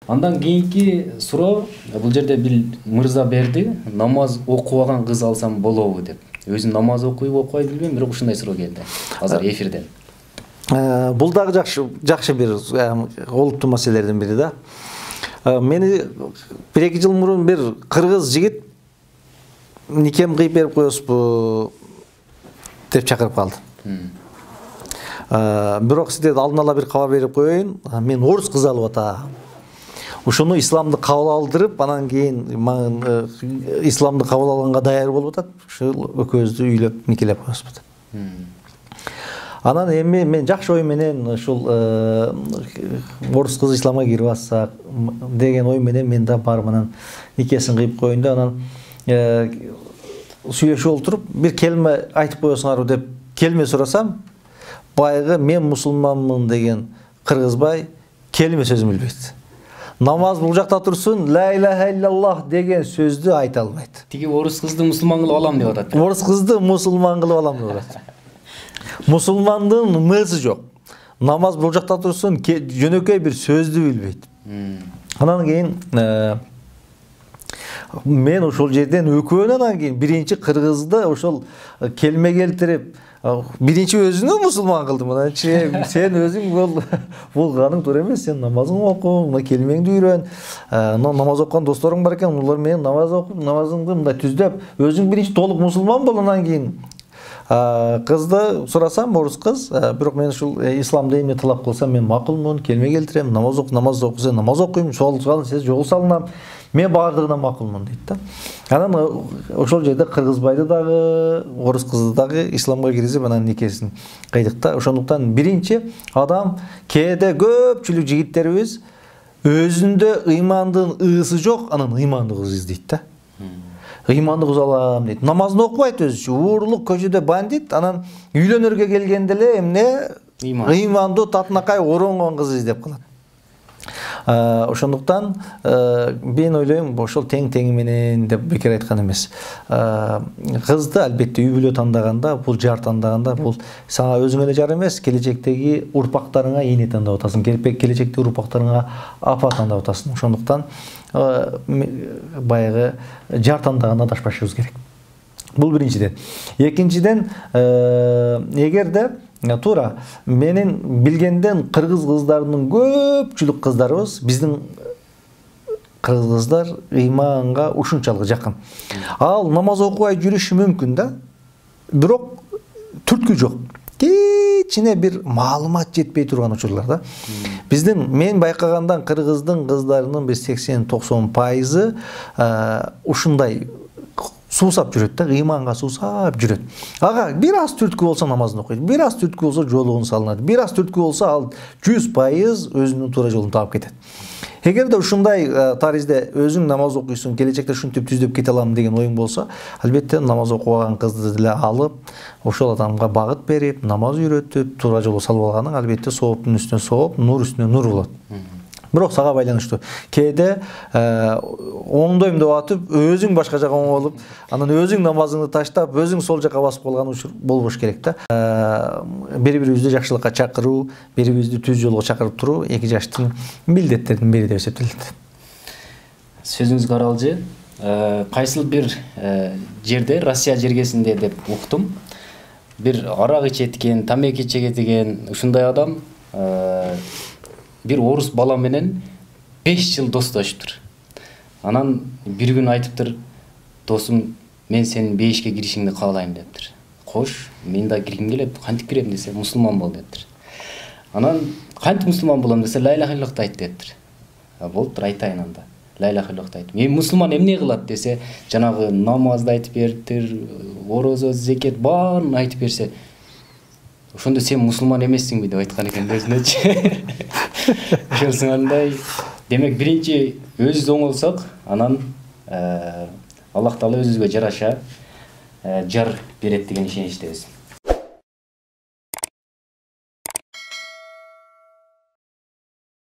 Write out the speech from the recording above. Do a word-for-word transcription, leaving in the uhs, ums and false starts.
Андан кийинки суроо, бул жерде бир мырза берди, намаз окубаган кыз алсам болобу деп. Өзү намаз окуйбу, окубай билбейм, бирок ушундай суроо келди азыр эфирден. Бул дагы жакшы жакшы бир олуттуу маселелердин бири да. Мени бир эки жыл мурун бир кыргыз жигит никем кыйып берип коесузбу деп чакырып калды. Бирок сизге алдын ала бир кабар берип коеюн, мен орус кызы алып атам. Ушуну исламды кабыл алдырып, анан кийин исламды кабыл алганга даяр болуп атат. Ушул экөөбүздү үйлөп, никелеп коебузбу деп. Анан эми мен жакшы ой менен ушул орус кызы исламга кирип атсак деген ой менен мен да барып анан никесин кыйып коеюн да, анан сүйлөшүп отуруп бир келме айтып коесуңарбы деп келме сурасам, баягы мен мусулманмын деген кыргызбай келме сөзүн билбейт. Намаз бул жакта турсун, ла иляха иллаллах деген сөздү айта албайт. Тиги орус кызды мусулман кылып алам деп атат. Орус кызды мусулман кылып алам деп атат. Мусулмандын мысы жок. Намаз бул жакта турсун, жөнөкөй бир сөздү билбейт. Анан кийин мен ошол жерден өкөөнөн кийин биринчи кыргызды ошол келме келтирип, биринчи өзүнү мусулман кылдым. Анан сен өзүң бул булганың туура эмес, сен намазыңды оку, мына келмеңди үйрөн. Намаз окуган досторуң бар экен, улар менен намаз окуп, намазыңды мындай түздөп, өзүң биринчи толук мусулман бол, анан кийин кызды сурасам, орус кыз, бирок мен ушул исламды эмне талап кылсам мен макулмун, келме келтирем, намаз оку, намаз окуса намаз окуйм, жол салса жол салынам. Мен бардыгына макулмун дейт да. Анан ошол жерде кыргызбайды дагы, орус кызды дагы исламга киргизип, анан никесин кыйдык да. Ошондуктан биринчи адам кээде көпчүлүк жигиттерибиз өзүндө ыймандын ысы жок, анан ыймандуу кыз издейт да. Ыймандуу кыз алам дейт. Намазын окубайт өзүчө, уурлук көчөдө бандит, анан үйлөнөргө келгенде эле эмне ыймандуу татынакай оронгон кыз издеп калат. Ошондуктан мен ойлойм, ошол тең тең менен деп бекер айткан эмес. Кызды албетте үй бүлө тандаганда, бул жар тандаганда, бул сага өзүңө эле жар эмес, келечектеги урпактарыңа эне тандап атасың, келечектеги урпактарыңа апа тандап атасың. Ошондуктан баягы жар тандаганда адашпашыбыз керек. Бул биринчиден. Экинчиден, эгерде туура менин билгенден кыргыз кыздарынын көпчүлүк кыздарыбыз, биздин кыргыз кыздар ыйманга ушунчалык жакын. Ал намаз окубай жүрүшү мүмкүн да, бирок түрткү жок. Кичине бир маалымат жетпей турган учурлар да. Биздин мен байкагандан кыргыздын кыздарынын бир сексен токсон пайызы ушундай суусап жүрөт да, ыйманга суусап жүрөт. Ага бир аз түрткү болсо намазын окуйт, бир аз түрткү болсо жолугун салынат, бир аз түрткү болсо ал жүз пайыз өзүнүн туура жолун таап кетет. Эгерде ушундай таризде өзүң намаз окуйсуң, келечекте ушинтип түздөп кете алам деген оюң болсо, албетте намаз окубаган кызды деле алып, ошол адамга багыт берип, намаз үйрөтүп, туура жолго салып алганың албетте сооптун үстүнө сооп, нур үстүнө нур болот. Бирок сага байланыштуу. Кээде оңдойм деп атып, өзүң башка жака оңолуп, анан өзүң намазыңды таштап, өзүң сол жака басып калган учур болбош керек да. Бири-бирибизди жакшылыкка чакыруу, бири-бирибизди түз жолго чакырып туруу эки жаштын милдеттеринин бири деп эсептелет. Сөзүңүзгө аралжы, кайсыл бир жерде, Россия жергесинде деп уктум, бир арак ичеткен, тамеки чегеткен ушундай адам бир орус бала менен беш жыл достошуптур. Анан бир күн айтыптыр, досум, мен сенин бейишке киришиңди каалайм дептир. Кош, мен да киргим келет, кантип кирем десе, мусулман бол дептир. Анан кантип мусулман болом десе, ла иляха иллаллахты айт дептир. Болуптур, айтайын анда. Ла иляха иллаллахты айт. Мен мусулман эмне кылат десе, жанагы намазды айтып бериптир, орозо, зекет баарын айтып берсе, ошондо сен мусулман эмессиңби деп айткан экен өзүнөчү. Ошонсуңандай, демек биринчи өзүбүз оңолсок, анан Аллах Таала өзүбүзгө жараша жар берет деген ишеничтебиз.